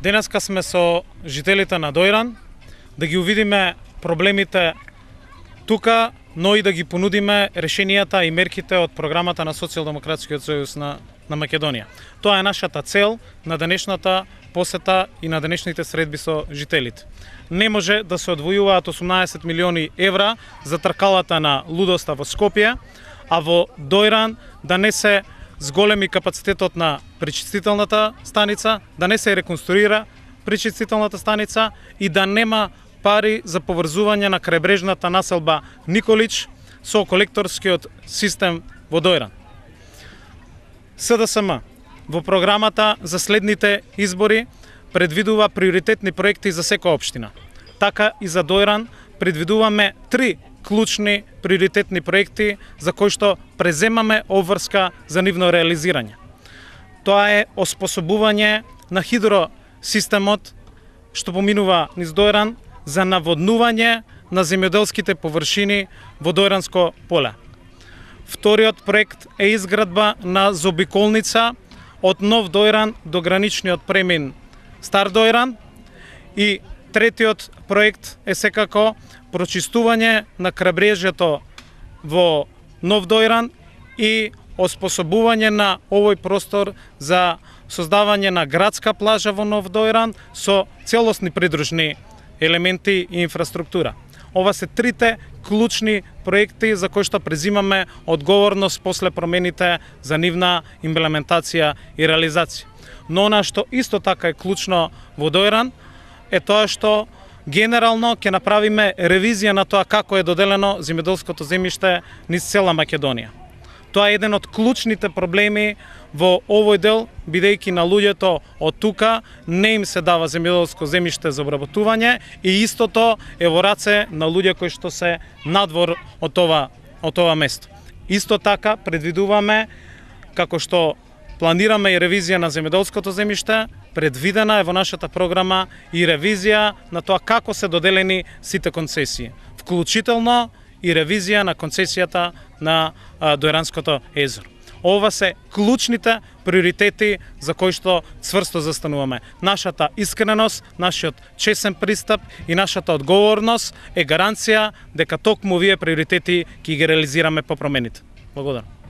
Денеска сме со жителите на Дојран, да ги увидиме проблемите тука, но и да ги понудиме решенијата и мерките од програмата на Социјалдемократскиот сојуз на Македонија. Тоа е нашата цел на денешната посета и на денешните средби со жителите. Не може да се одвојуваат 18 милиони евра за тркалата на лудоста во Скопје, а во Дојран да не се зголеми капацитетот на пречистителната станица, да не се реконструира пречистителната станица и да нема пари за поврзување на крајбрежната населба Николич со колекторскиот систем во Дојран. СДСМ во програмата за следните избори предвидува приоритетни проекти за секоја општина. Така и за Дојран предвидуваме 3 клучни приоритетни проекти за кои што преземаме обврска за нивно реализирање. Тоа е оспособување на хидросистемот што поминува низ Дојран за наводнување на земјоделските површини во Дојранско поле. Вториот проект е изградба на заобиколница од Нов Дојран до граничниот премин Стар Дојран и третиот проект е секако прочистување на крабрежјето во Нов Дојран и оспособување на овој простор за создавање на градска плажа во Нов Дојран со целосни придружни елементи и инфраструктура. Ова се трите клучни проекти за кои што презимаме одговорност после промените за нивна имплементација и реализација. Но она што исто така е клучно во Дојран е тоа што генерално ќе направиме ревизија на тоа како е доделено земјоделското земјиште низ цела Македонија. Тоа е еден од клучните проблеми во овој дел, бидејќи на луѓето од тука не им се дава земјоделско земјиште за обработување и истото е во раце на луѓе кои што се надвор од ова место. Исто така предвидуваме, како што планираме и ревизија на земјоделското земјиште, предвидена е во нашата програма и ревизија на тоа како се доделени сите концесии, вклучително и ревизија на концесијата на Дојранското езеро. Ова се клучните приоритети за кои што цврсто застануваме. Нашата искреност, нашиот чесен пристап и нашата одговорност е гаранција дека токму овие приоритети ќе ги реализираме по промените. Благодарам.